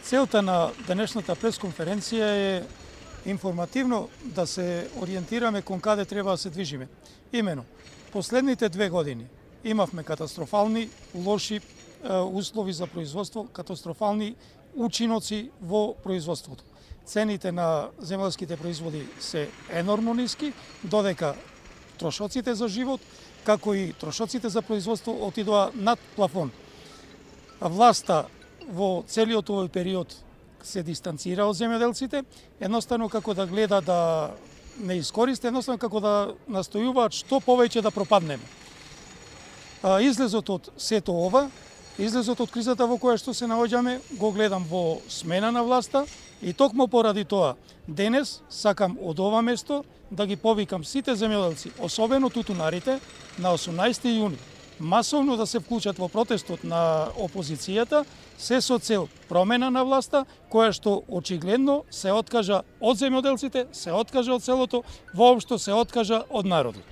Целта на денешната пресконференција е информативно да се ориентираме кон каде треба да се движиме. Имено, последните 2 години имавме катастрофални, лоши услови за производство, катастрофални учиноци во производството. Цените на земјарските производи се енормно ниски, додека трошоците за живот, како и трошоците за производство отидоа над плафон. Власта во целиот овој период се дистанцира од земјоделците, едноставно како да гледа да не искористи, едноставно како да настојуваат што повеќе да пропаднеме. Излезот од сето ова, излезот од кризата во која што се наоѓаме, го гледам во смена на власта и токму поради тоа денес сакам од ова место да ги повикам сите земјоделци, особено тутунарите, на 18 јуни масовно да се вклучат во протестот на опозицијата, се со цел промена на власта, која што очигледно се откажа од земјоделците, се откажа од селото, воопшто се откажа од народот.